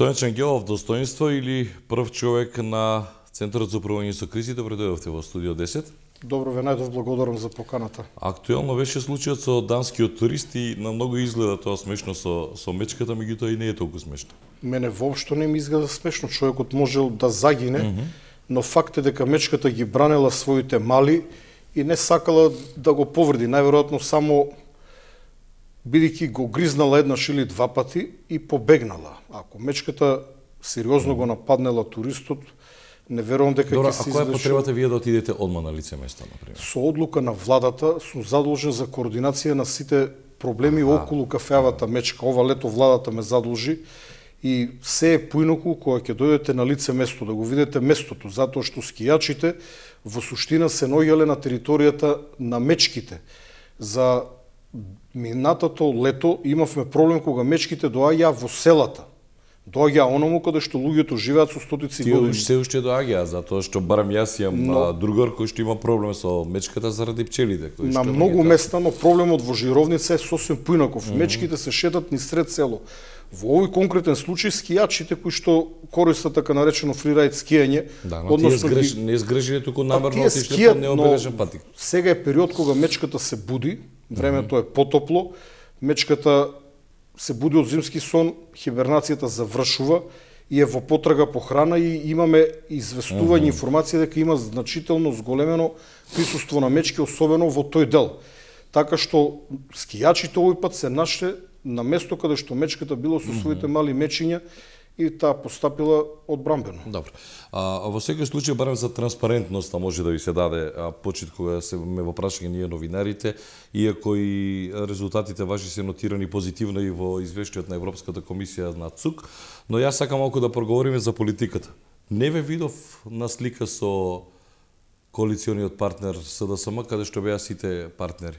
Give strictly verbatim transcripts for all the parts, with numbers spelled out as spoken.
Стојан Чангелов, достоинство или прв човек на Центарот за управување со кризите, предојдовте во студио десет. Добро ве најдов, благодарам за поканата. Актуелно беше случајот со данскиот турист и на многу изгледа тоа смешно со со мечката, меѓутоа и не е толку смешно. Мене воопшто не ми изгледа смешно, човекот можел да загине, mm -hmm. но факт е дека мечката ги бранела своите мали и не сакала да го повреди, најверојатно само бидејќи го гризнала еднаш или два пати и побегнала. Ако мечката сериозно го нападнела туристот, не верувам дека ќе се изврши. А која е потребата вие да отидете одма на лице место, например? Со одлука на владата сум задолжен за координација на сите проблеми а, околу кафеавата мечка. Ова лето владата ме задолжи и се е поинаку кога ќе дојдете на лице место, да го видите местото, затоа што скијачите во суштина се наоѓале на територијата на мечките. За минатото лето имавме проблем кога мечките доаѓаа во селата. Доаѓа оному каде што луѓето живеат со стотици години. Тие се уште доаѓаа, затоа што барам јас имам но, другар кој што има проблем со мечката заради пчелите. Кој на што многу места, но проблемот во Жировница е сосем поинаков. Mm -hmm. Мечките се шетат низ сред село. Во овој конкретен случај скијачите кои што користат така наречено фрирајд скијање, да, но односно тие сгреш, не сгрежиле туку намерно отишле по необележен патик. Сега е период кога мечката се буди, времето е потопло, мечката се буди од зимски сон, хибернацијата завршува и е во потрага по храна и имаме известување mm -hmm. информација дека има значително зголемено присуство на мечки, особено во тој дел. Така што скијачите овој пат се нашле на место каде што мечката било со своите мали мечиња и таа постапила одбранбено. Добро. А, во секој случај барем за транспарентност може да ви се даде а, почит кога се ме во прашање ние новинарите, иако и резултатите ваши се нотирани позитивно и во извештајот на Европската комисија на ЦУК, но јас сакам малку да проговориме за политиката. Не ве видов на слика со коалициониот партнер СДСМ, каде што беа сите партнери.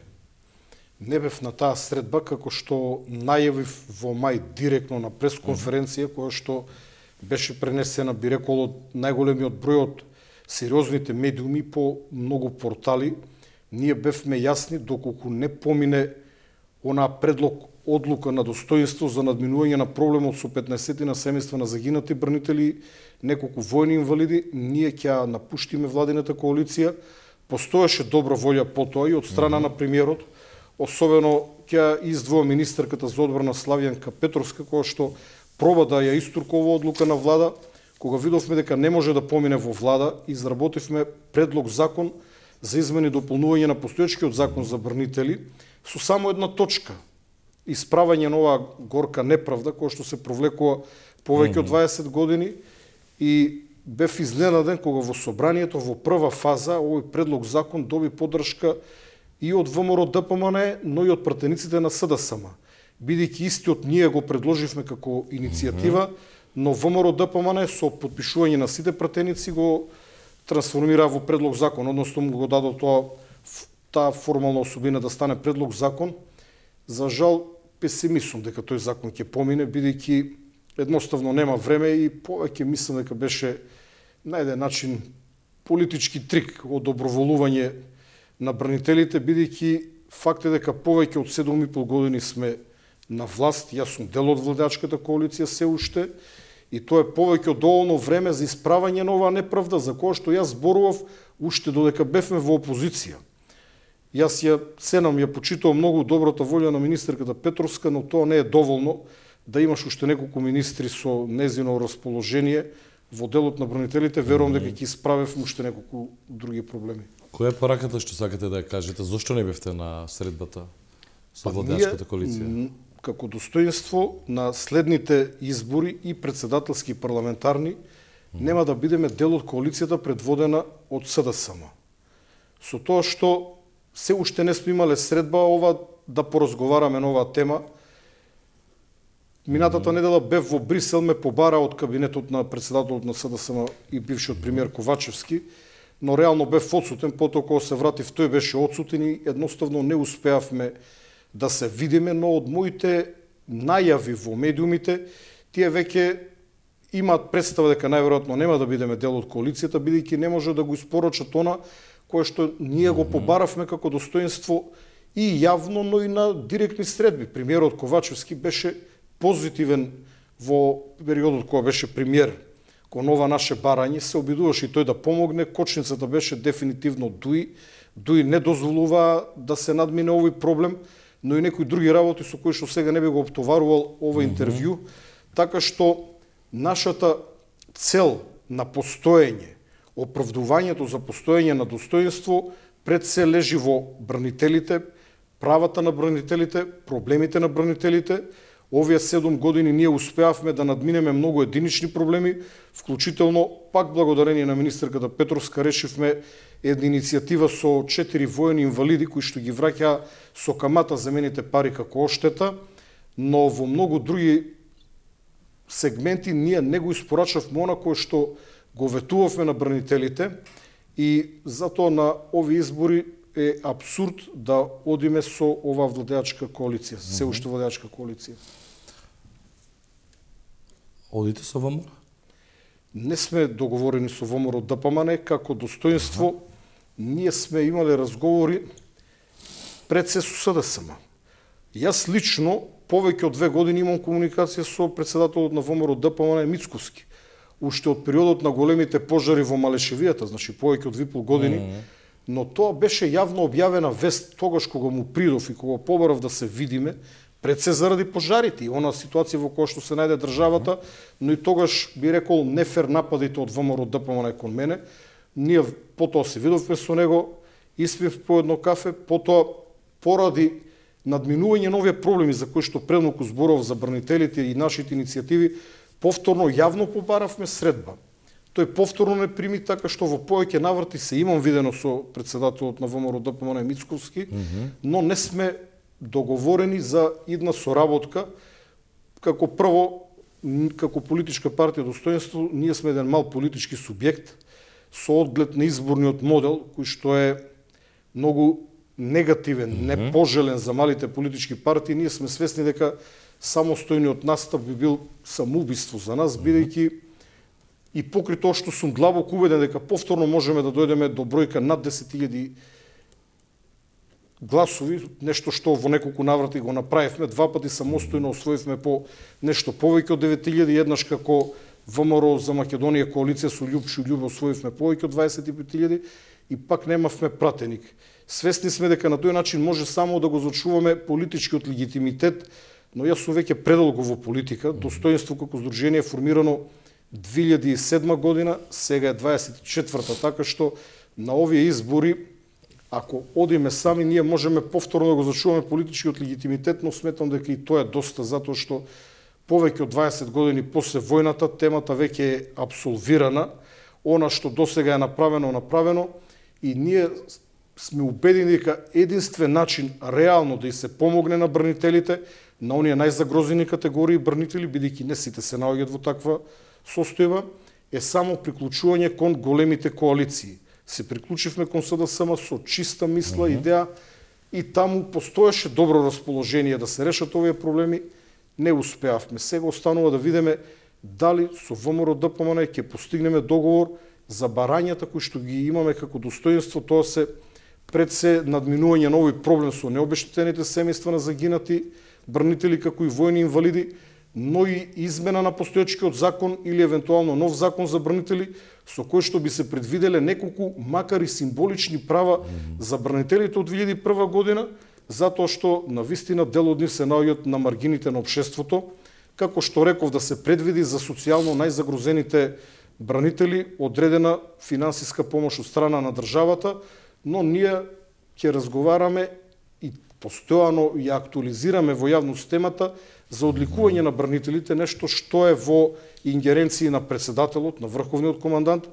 Не бев на таа средба, како што најавив во мај директно на пресконференција, која што беше пренесена, би рекол, од најголемиот број од сериозните медиуми по многу портали. Ние бевме јасни доколку не помине онаа предлог одлука на достоинство за надминување на проблемот со петнаесетина семејства на загинати бранители, неколку војни инвалиди, ние ќе напуштиме владината коалиција. Постоеше добра волја по тоа и од страна mm -hmm. на премиерот, особено ќе издвоја министерката за одбрана Славјанка Петровска, која што проба да ја истуркува одлука на влада. Кога видовме дека не може да помине во влада, изработивме предлог закон за измени и дополнување на постоечкиот закон за бранители со само една точка: исправање на оваа горка неправда која што се провлекува повеќе од дваесет години. И бев изненаден кога во собранието во прва фаза овој предлог закон доби поддршка и од ВМРО Д П М Н, но и од пратениците на СДСМ. Бидејќи истиот ние го предложивме како иницијатива, но ВМРО Д П М Н со потпишување на сите пратеници го трансформира во предлог закон, односно му го дадо тоа таа формална особина да стане предлог закон. За жал, песимист сум дека тој закон ќе помине, бидејќи едноставно нема време и повеќе мислам дека беше на еден начин политички трик од доброволување на бранителите, бидејќи факт е дека повеќе од седум и пол години сме на власт, јас сум дел од владачката коалиција се уште, и тоа е повеќе од доволно време за исправање на оваа неправда за која што јас зборував уште додека бевме во опозиција. Јас ја ценам, ја почитувам многу добрата волја на министерката Петровска, но тоа не е доволно да имаш уште неколку министри со незино расположение во делот на бранителите. Верувам дека ќе исправев уште неколку други проблеми. Која е пораката што сакате да ја кажете? Зошто не бевте на средбата со владачката коалиција? Како достоинство на следните избори и председателски парламентарни, mm -hmm. нема да бидеме дел од коалицијата предводена од СДСМ. Со тоа што се уште не сме имале средба ова да поразговараме на оваа тема. Минатата mm -hmm. недела бев во Брисел, ме побара од кабинетот на председателот на СДСМ и бившиот премиер Ковачевски, но реално бев одсутен, потоа кога се вратив тој беше одсутен и едноставно не успеавме да се видиме, но од моите најави во медиумите, тие веќе имаат представа дека најверојатно нема да бидеме дел од коалицијата, бидејќи не може да го испорачат она кое што ние го побаравме како достоинство и јавно, но и на директни средби. Премиерот Ковачевски беше позитивен во периодот кога беше премиер кон ова наше барање, се обидуваше и тој да помогне, кочницата беше дефинитивно Дуи. Дуи не дозволува да се надмине овој проблем, но и некои други работи со кои што сега не би го оптоварувал ова интервју, така што нашата цел на постоење, оправдувањето за постоење на достоинство пред се лежи во бранителите, правата на бранителите, проблемите на бранителите. Овие седум години ние успеавме да надминеме многу единични проблеми, вклучително пак благодарение на министерката Петровска решивме една иницијатива со четири воени инвалиди кои што ги враќаа со камата земените пари како оштета, но во многу други сегменти ние не го испорачавме она кое што го ветувавме на бранителите и затоа на овие избори е абсурд да одиме со ова владеачка коалиција, се уште владеачка коалиција. Одите со ВМРО? Не сме договорени со ВМРО ДПМН како достоинство. Ага. Ние сме имале разговори пред се со СДСМ. Јас лично повеќе од две години имам комуникација со председателот на ВМРО ДПМН Мицковски. Уште од периодот на големите пожари во Малешевијата, значи повеќе од две и пол години, mm -hmm. но тоа беше јавно објавена вест тогаш кога му придов и кога побарав да се видиме, пред се заради пожарите и она ситуација во која што се најде државата, но и тогаш би рекол нефер нападите од ВМРО ДПМН кон мене. Ние потоа се видовме со него, испив по едно кафе, потоа поради надминување на овие проблеми за кои што предноку зборов за бранителите и нашите иницијативи, повторно јавно побаравме средба. Тој повторно не прими, така што во повеќе наврати се имам видено со председателот на ВМРО ДПМН Мицковски, mm -hmm. но не сме договорени за идна соработка. Како прво, како политичка партија Достоинство, ние сме еден мал политички субјект со одглед на изборниот модел, кој што е многу негативен, mm -hmm. непожелен за малите политички партии. Ние сме свесни дека самостојниот настап би бил самоубиство за нас, бидејќи и покри тоа што сум длабоко убеден дека повторно можеме да дојдеме до бројка над десет илјади гласови, нешто што во неколку наврати го направивме, два пати самостојно освоивме по нешто повеќе од девет илјади, еднаш како ВМРО за Македонија коалиција со Љупчо Љубе освоивме повеќе од дваесет и пет илјади и пак немавме пратеник. Свесни сме дека на тој начин може само да го зачуваме политичкиот легитимитет, но јас сум веќе предолго во политика. Достоинство како здружение е формирано две илјади и седма година, сега е дваесет и четврта, така што на овие избори, ако одиме сами, ние можеме повторно да го зачуваме политичкиот легитимитет, но сметам дека и тоа е доста, затоа што повеќе од дваесет години после војната темата веќе е абсолвирана, она што досега е направено, направено и ние сме убедени дека единствен начин реално да и се помогне на бранителите, на оние најзагрозени категории бранители, бидејќи не сите се наоѓаат во таква состојба, е само приклучување кон големите коалиции. Се приклучивме кон СДСМ со чиста мисла, mm -hmm. идеја и таму постоеше добро расположение да се решат овие проблеми, не успеавме. Сега останува да видиме дали со ВМРО ДПМН ќе постигнеме договор за барањата кои што ги имаме како достоинство, тоа се пред се надминување на овој проблем со необештетените семејства на загинати бранители како и војни инвалиди, но и измена на постоечкиот закон или евентуално нов закон за бранители со кој што би се предвиделе неколку макар и символични права mm -hmm. за бранителите од две илјади и прва година, затоа што на вистина дел од нив се наоѓаат на маргините на општеството, како што реков да се предвиди за социјално најзагрозените бранители одредена финансиска помош од страна на државата, но ние ќе разговараме и постојано ја актуализираме во јавност темата за одликување на бранителите, нешто што е во ингеренции на председателот, на врховниот командант.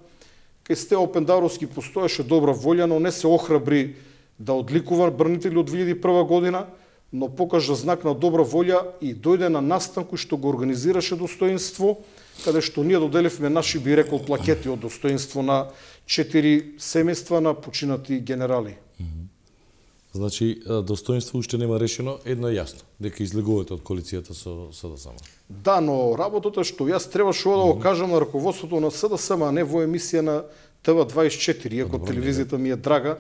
Кај Стео Пендаровски постоеше добра волја, но не се охрабри да одликува бранители од две илјади и прва година, но покажа знак на добра волја и дојде на настан кој што го организираше Достоинство, каде што ние доделивме наши, би рекол, плакети од Достоинство на четири семејства на починати генерали. Значи, Достоинство уште нема решено, едно е јасно, дека излегувате од коалицијата со СДСМ. Да, но работата што јас требаше да го кажам на раководството на СДСМ, а не во емисија на Т В дваесет и четири, иако телевизијата ми е драга,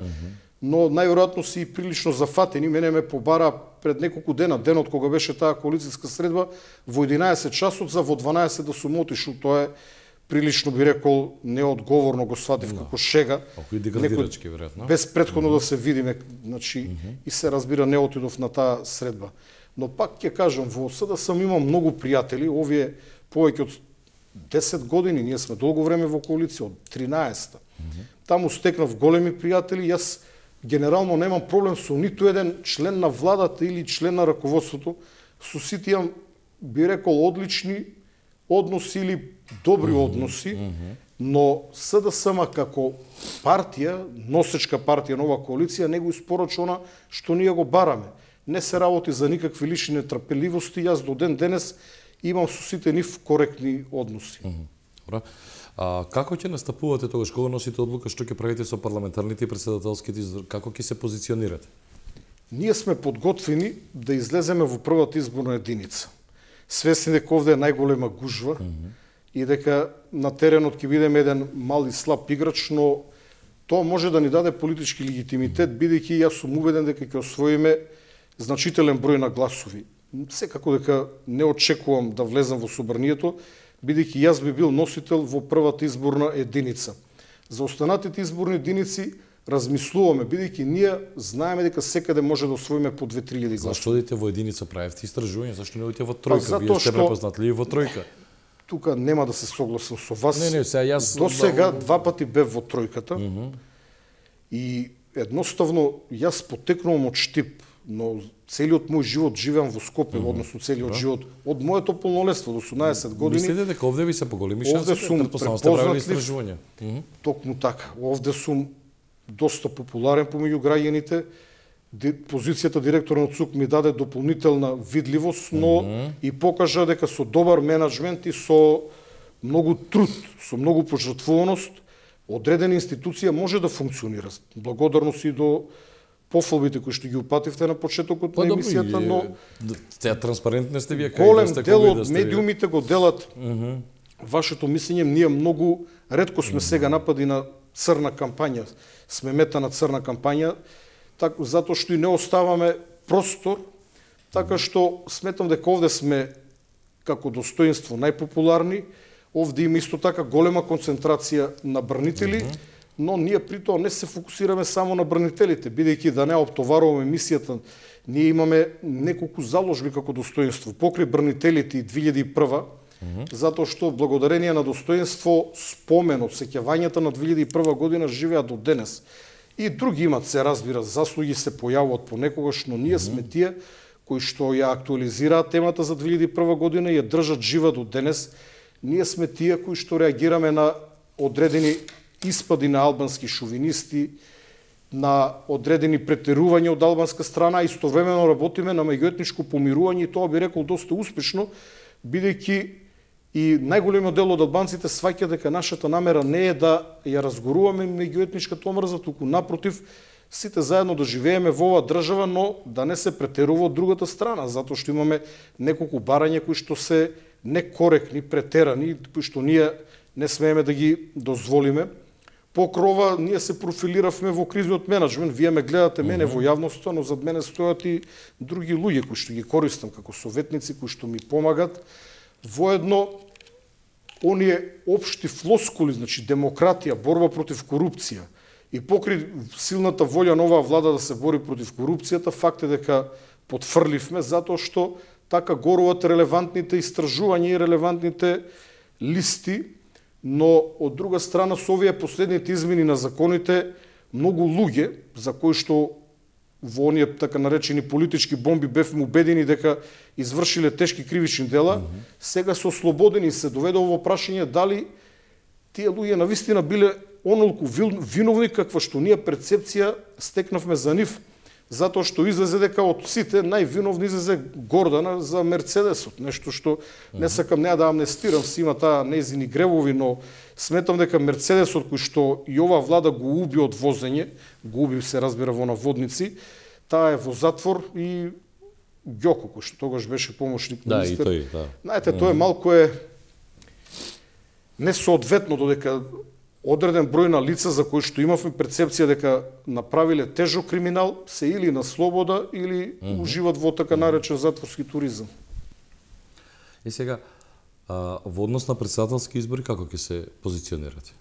но најверојатно си и прилично зафатени. Мене ме побара пред неколку дена, денот кога беше таа коалицијска средба, во единаесет часот за во дванаесет да сум отишол. Тоа е прилично, би рекол, неодговорно, го сватив како шега. Ако и деградирачки, веројатно. Без претходно да се видиме, значи, и се разбира, не отидов на таа средба. Но пак ќе кажам, во СДСМ имам многу пријатели, овие повеќе од десет години, ние сме долго време во коалиција, од тринаесета. Таму стекнав големи пријатели, јас генерално немам проблем со ниту еден член на владата или член на раководството, со сите имам, би рекол, одлични односи или добри односи, но СДСМ како партија, носечка партија на оваа коалиција, не го испорача она што ние го бараме. Не се работи за никакви лични нетрпеливости, јас до ден денес имам со сите нив коректни односи. Добра. А како ќе настапувате тогаш кога носите одлука што ќе правите со парламентарните и председателските избори, како ќе се позиционирате? Ние сме подготвени да излеземе во првата изборна единица. Свесни дека овде е најголема гужва mm -hmm. и дека на теренот ќе бидеме еден мал и слаб играч, но тоа може да ни даде политички легитимитет, бидејќи јас сум убеден дека ќе освоиме значителен број на гласови. Секако дека не очекувам да влезам во собранието, бидејќи јас би бил носител во првата изборна единица. За останатите изборни единици размислуваме, бидејќи ние знаеме дека секаде може да освоиме по две-три илјади гласови. Зашто одите во единица, правевте истражување, зашто не одите во тројка? Па, Вие сте препознатливи во тројка. Тука нема да се согласам со вас. Не, не, сега јас до сега два пати бев во тројката. Mm -hmm. И едноставно јас потекнувам од Штип, но целиот мој живот живеам во Скопје, mm -hmm. односно целиот живот од моето полнолетство до осумнаесет години. Мислите дека овде ви се поголеми шанси? Овде сум препознатлив. Токму така. Овде сум доста популарен помеѓу граѓаните. Позицијата директор на ЦУК ми даде дополнителна видливост, но mm -hmm. и покажа дека со добар менеджмент и со многу труд, со многу пожртвуваност, одредена институција може да функционира. Благодарност и до пофалбите кои што ги упативте на почетокот на емисијата, но таа транспарентна сте вие, голем дел од медиумите го делат. Mm -hmm. Вашето мислење, ние многу ретко сме mm -hmm. сега напади на црна кампања, сме мета на црна кампања, так, затоа што и не оставаме простор, така што сметам дека овде сме како достоинство најпопуларни, овде има исто така голема концентрација на бранители, mm -hmm. но ние при тоа не се фокусираме само на бранителите, бидејќи да не оптоваруваме мисијата, ние имаме неколку заложби како достоинство. Покрај бранителите и две илјади и прва, Mm -hmm. затоа што благодарение на достоинство, споменот, сеќавањата на две илјади и прва година живеат до денес. И други имат, се разбира, заслуги се појавуваат понекогаш, но ние mm -hmm. сме тие кои што ја актуализираат темата за две илјади и прва година и ја држат жива до денес. Ние сме тие кои што реагираме на одредени испади на албански шовинисти, на одредени претерувања од албанска страна, истовремено работиме на меѓуетничко помирување и тоа би рекол доста успешно, бидејќи и најголемиот дел од албанците сваќа дека нашата намера не е да ја разгоруваме меѓуетничката омрза, туку напротив, сите заедно да живееме во оваа држава, но да не се претерува од другата страна, затоа што имаме неколку барања кои што се некоректни, претерани, кои што ние не смееме да ги дозволиме. Покрова ние се профилиравме во кризниот менеджмент. Вие ме гледате мене во јавноста, но зад мене стојат и други луѓе кои што ги користам како советници, кои што ми помагат. Воедно, оние општи флоскули, значи демократија, борба против корупција и покри силната волја на оваа влада да се бори против корупцијата, факт е дека потфрливме затоа што така горуват релевантните истражувања и релевантните листи, но од друга страна со овие последните измени на законите многу луѓе за кои што во оние така наречени политички бомби бевме убедени дека извршиле тешки кривични дела, mm -hmm. сега се ослободени и се доведува во прашање дали тие луѓе навистина биле онолку виновни каква што ние перцепција стекнавме за нив, затоа што излезе дека од сите највиновни излезе Гордана за Мерцедесот, нешто што не сакам неа да амнестирам, си има таа нејзини гревови, но сметам дека Мерцедесот кој што и оваа влада го уби од возење, го уби се разбира во наводници, таа е во затвор и Ѓоко кој што тогаш беше помошник да, министер. Да, и тој, да. Знаете, тоа е малку е несоодветно додека одреден број на лица за кои што имавме перцепција дека направиле тежок криминал, се или на слобода или mm -hmm. уживат во така наречен затворски туризам. И сега, а, во однос на претседателски избори, како ќе се позиционирате?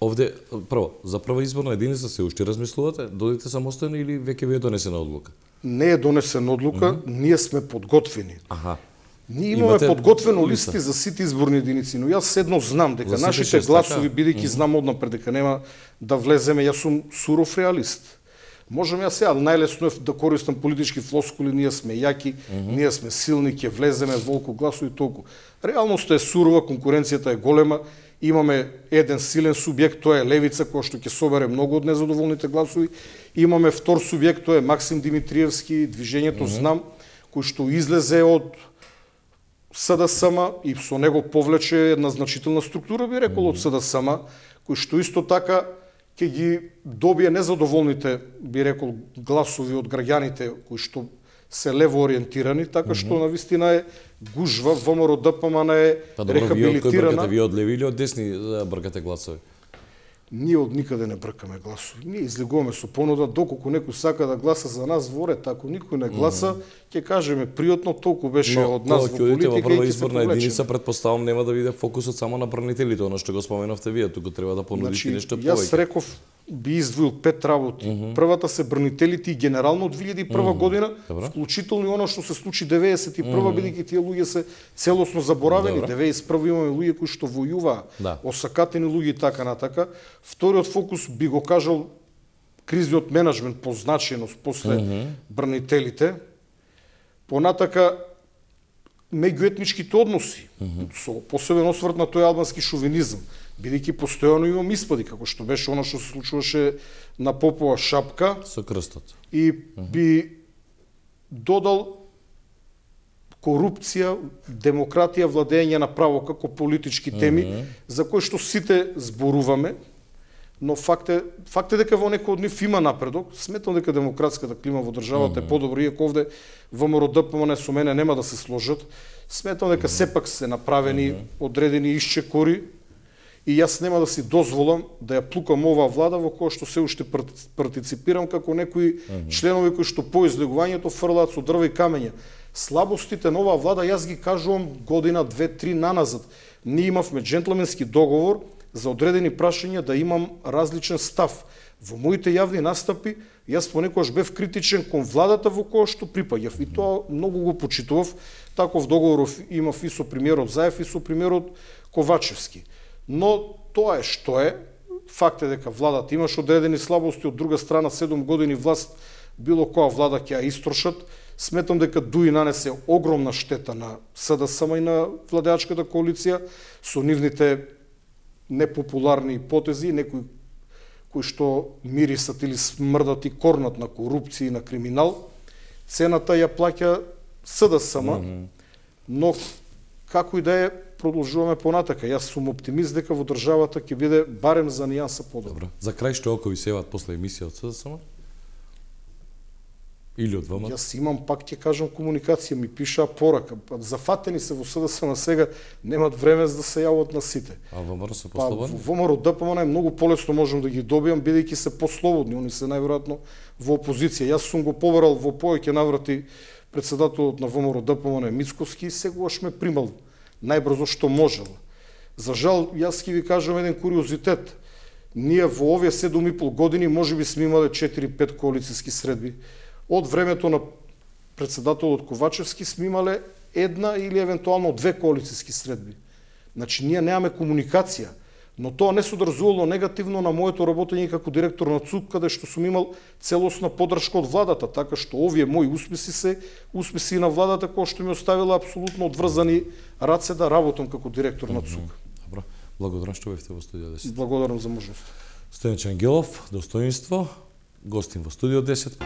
Овде, прво, за прва изборна единица се уште размислувате? Додите самостојно или веќе ви е донесена одлука? Не е донесена одлука, mm -hmm. ние сме подготвени. Аха. Ние имаме Имате подготвено листи листа за сите изборни единици, но јас едно знам дека нашите шест, гласови, бидејќи mm -hmm. знам однапред дека нема да влеземе, јас сум суров реалист. Можам јас сега, најлесно е да користам политички флоскули, ние сме јаки, mm -hmm. ние сме силни, ќе влеземе волку гласови толку. Реалноста е сурова, конкуренцијата е голема, имаме еден силен субјект, тоа е левица, која што ќе собере многу од незадоволните гласови. Имаме втор субјект, тоа е Максим Димитриевски, движењето mm -hmm. Знам, кој што излезе од СДСМ и со него повлече една значителна структура, би рекол, mm -hmm. од СДСМ, кој што исто така ќе ги добие незадоволните, би рекол, гласови од граѓаните кои што се лево ориентирани, така mm -hmm. што навистина е гужва, ВМРО ДПМН е па, добро, рехабилитирана. Вие од леви или од десни бркате гласови? Ние од никаде не бркаме гласови. Ние излегуваме со понуда, доколку некој сака да гласа за нас во ред, ако никој не гласа, ќе mm. кажеме пријатно, толку беше Но, од нас во политика и ќе се повлечеме. Единица, предпоставам, нема да биде фокусот само на бранителите, оно што го споменавте вие, туку треба да понудите значи, нешто повеќе. Јас реков, би издвоил пет работи. Mm -hmm. Првата се бранителите и генерално од две илјади и прва mm -hmm. година, Добра. вклучително и оно што се случи деветдесет и прва, mm -hmm. бидејќи тие луѓе се целосно заборавени. Добра. деветдесет и прва имаме луѓе кои што војуваа, да. осакатени луѓе и така натака. Вториот фокус би го кажал кризниот менеджмент по значајност после mm -hmm. бранителите. Понатака меѓуетничките односи, mm -hmm. со посебен осврт на тој албански шовинизам, бидејќи постојано имам испади, како што беше оно што се случуваше на Попова шапка. Со крстот. И би додал корупција, демократија, владење на право како политички теми, mm -hmm. за кои што сите зборуваме, но факт е, факт е дека во некој од нив има напредок. Сметам дека демократската клима во државата mm -hmm. е подобра, иако овде ВМРО ДПМН со мене нема да се сложат. Сметам дека mm -hmm. сепак се направени mm -hmm. одредени исчекори и јас нема да си дозволам да ја плукам оваа влада во која што се уште партиципирам како некои mm -hmm. членови кои што по излегувањето фрлаат со дрва и камења. Слабостите на оваа влада јас ги кажувам година, две, три наназад. Ние имавме джентлменски договор за одредени прашања да имам различен став. Во моите јавни настапи јас понекогаш бев критичен кон владата во која што припаѓав и тоа многу го почитував. Таков договор имав и со премиерот Заев и со премиерот Ковачевски. Но тоа е што е. Факт е дека владата имаш одредени слабости, од друга страна седум години власт било која влада ќе ја истрошат. Сметам дека ДУИ нанесе огромна штета на СДСМ и на владеачката коалиција со нивните непопуларни потези, некои кои што мирисат или смрдат и корнат на корупција и на криминал. Цената ја плаќа СДСМ, mm -hmm. но како и да е, продолжуваме понатака. Јас сум оптимист дека во државата ќе биде барем за нијанса подобро. За крај што око ви севаат после емисија од СДСМ? Или од ВМ? Јас имам, пак ќе кажам, комуникација, ми пишаа порака. Зафатени се во СДСМ сега, немат време за да се јават на сите. А ВМРО се послободни? Па, ВМРО ДПМН е многу полесно можам да ги добијам, бидејќи се послободни. Они се најверојатно во опозиција. Јас сум го побарал во повеќе наврати председателот на ВМРО ДПМН Мицковски и сегогаш ме примал најбрзо што можел. За жал, јас ќе ви кажам еден куриозитет. Ние во овие седум и пол години можеби сме имале четири-пет коалициски средби. Од времето на председателот Ковачевски сме имале една или евентуално две коалициски средби. Значи, ние немаме комуникација, но тоа не содржувало негативно на моето работење како директор на ЦУК, каде што сум имал целосна подршка од владата, така што овие мои успеси се успеси на владата која што ми оставила апсолутно одврзани раце да работам како директор на ЦУК. Добро, благодарам што бевте во студио десет. Благодарам за можност. Стојан Ангелов, достоинство, гостин во студио десет.